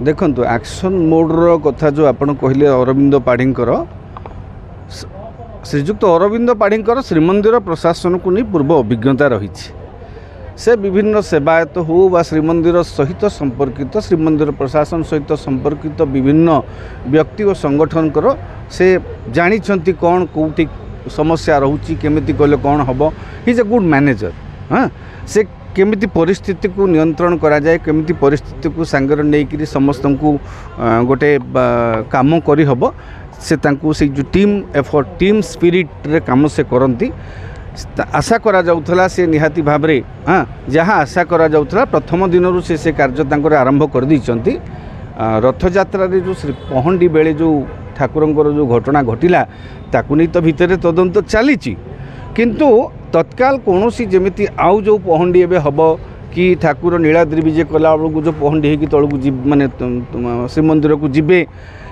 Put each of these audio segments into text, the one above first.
ଦେଖନ୍ତୁ, ଆକ୍ସନ୍ ମୋଡ଼ର କଥା ଯେଉଁ ଆପଣ କହିଲେ ଅରବିନ୍ଦ ପାଢ଼ୀଙ୍କର, ଶ୍ରୀଯୁକ୍ତ ଅରବିନ୍ଦ ପାଢ଼ୀଙ୍କର ଶ୍ରୀମନ୍ଦିର ପ୍ରଶାସନକୁ ନେଇ ପୂର୍ବ ଅଭିଜ୍ଞତା ରହିଛି। ସେ ବିଭିନ୍ନ ସେବାୟତ ହେଉ ବା ଶ୍ରୀମନ୍ଦିର ସହିତ ସମ୍ପର୍କିତ, ଶ୍ରୀମନ୍ଦିର ପ୍ରଶାସନ ସହିତ ସମ୍ପର୍କିତ ବିଭିନ୍ନ ବ୍ୟକ୍ତି ଓ ସଂଗଠନଙ୍କର ସେ ଜାଣିଛନ୍ତି କ'ଣ କେଉଁଠି ସମସ୍ୟା ରହୁଛି, କେମିତି କଲେ କ'ଣ ହେବ। He is a good manager. ହଁ, ସେ କେମିତି ପରିସ୍ଥିତିକୁ ନିୟନ୍ତ୍ରଣ କରାଯାଏ, କେମିତି ପରିସ୍ଥିତିକୁ ସାଙ୍ଗରେ ନେଇକରି ସମସ୍ତଙ୍କୁ ଗୋଟେ କାମ କରିହେବ, ସେ ତାଙ୍କୁ ସେଇ ଯେଉଁ ଟିମ୍ ଏଫର୍ଟ, ଟିମ୍ ସ୍ପିରିଟ୍ରେ କାମ ସେ କରନ୍ତି। ଆଶା କରାଯାଉଥିଲା ସେ ନିହାତି ଭାବରେ, ହଁ, ଯାହା ଆଶା କରାଯାଉଥିଲା ପ୍ରଥମ ଦିନରୁ ସେ କାର୍ଯ୍ୟ ତାଙ୍କର ଆରମ୍ଭ କରିଦେଇଛନ୍ତି। ରଥଯାତ୍ରାରେ ଯେଉଁ ଶ୍ରୀ ପହଣ୍ଡି ବେଳେ ଯେଉଁ ଠାକୁରଙ୍କର ଯେଉଁ ଘଟଣା ଘଟିଲା, ତାକୁ ନେଇ ତ ଭିତରେ ତଦନ୍ତ ଚାଲିଛି, କିନ୍ତୁ ତତ୍କାଳ କୌଣସି ଯେମିତି ଆଉ ଯେଉଁ ପହଣ୍ଡି ଏବେ ହେବ କି ଠାକୁର ନୀଳାଦ୍ରି ବିଜେ କଲାବେଳକୁ ଯେଉଁ ପହଣ୍ଡି ହେଇକି ତଳକୁ ମାନେ ଶ୍ରୀମନ୍ଦିରକୁ ଯିବେ,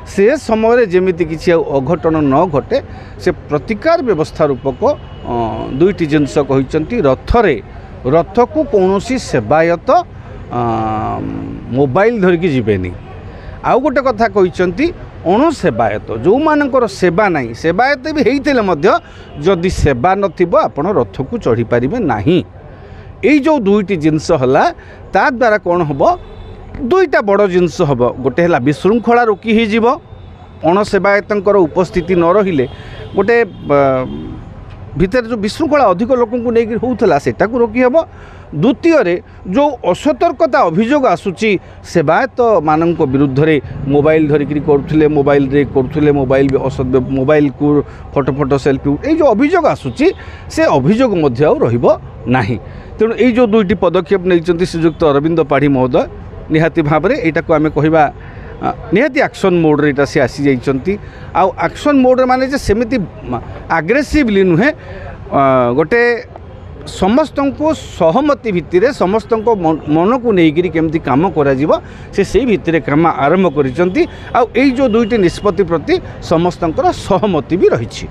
ସେ ସମୟରେ ଯେମିତି କିଛି ଆଉ ଅଘଟଣ ନ ଘଟେ, ସେ ପ୍ରତିକାର ବ୍ୟବସ୍ଥା ରୂପକ ଦୁଇଟି ଜିନିଷ କହିଛନ୍ତି। ରଥରେ, ରଥକୁ କୌଣସି ସେବାୟତ ମୋବାଇଲ ଧରିକି ଯିବେନି। ଆଉ ଗୋଟେ କଥା କହିଛନ୍ତି, ଅଣସେବାୟତ ଯେଉଁମାନଙ୍କର ସେବା ନାହିଁ, ସେବାୟତ ବି ହେଇଥିଲେ ମଧ୍ୟ ଯଦି ସେବା ନଥିବ ଆପଣ ରଥକୁ ଚଢ଼ିପାରିବେ ନାହିଁ। ଏଇ ଯେଉଁ ଦୁଇଟି ଜିନିଷ ହେଲା, ତା ଦ୍ୱାରା କ'ଣ ହେବ? ଦୁଇଟା ବଡ଼ ଜିନିଷ ହେବ। ଗୋଟେ ହେଲା ବିଶୃଙ୍ଖଳା ରୋକି ହେଇଯିବ। ଅଣସେବାୟତଙ୍କର ଉପସ୍ଥିତି ନ ରହିଲେ ଗୋଟେ ଭିତରେ ଯେଉଁ ବିଶୃଙ୍ଖଳା ଅଧିକ ଲୋକଙ୍କୁ ନେଇକି ହେଉଥିଲା, ସେଟାକୁ ରୋକି ହେବ। ଦ୍ୱିତୀୟରେ ଯେଉଁ ଅସତର୍କତା ଅଭିଯୋଗ ଆସୁଛି ସେବାୟତମାନଙ୍କ ବିରୁଦ୍ଧରେ, ମୋବାଇଲ ଧରିକିରି କରୁଥିଲେ, ମୋବାଇଲରେ କରୁଥିଲେ, ମୋବାଇଲ ମୋବାଇଲକୁ ଫଟୋ ସେଲ୍ଫି, ଏଇ ଯେଉଁ ଅଭିଯୋଗ ଆସୁଛି ସେ ଅଭିଯୋଗ ମଧ୍ୟ ଆଉ ରହିବ ନାହିଁ। ତେଣୁ ଏଇ ଯେଉଁ ଦୁଇଟି ପଦକ୍ଷେପ ନେଇଛନ୍ତି ଶ୍ରୀଯୁକ୍ତ ଅରବିନ୍ଦ ପାଢ଼ୀ ମହୋଦୟ, ନିହାତି ଭାବରେ ଏଇଟାକୁ ଆମେ କହିବା ନିହାତି ଆକ୍ସନ୍ ମୋଡ଼ରେ ଏଇଟା ସେ ଆସିଯାଇଛନ୍ତି। ଆଉ ଆକ୍ସନ୍ ମୋଡ଼ରେ ମାନେ ଯେ ସେମିତି ଆଗ୍ରେସିଭଲି ନୁହେଁ, ଗୋଟେ ସମସ୍ତଙ୍କୁ ସହମତି ଭିତ୍ତିରେ ସମସ୍ତଙ୍କ ମନକୁ ନେଇକରି କେମିତି କାମ କରାଯିବ, ସେ ସେଇ ଭିତ୍ତିରେ କାମ ଆରମ୍ଭ କରିଛନ୍ତି। ଆଉ ଏଇ ଯେଉଁ ଦୁଇଟି ନିଷ୍ପତ୍ତି ପ୍ରତି ସମସ୍ତଙ୍କର ସହମତି ବି ରହିଛି।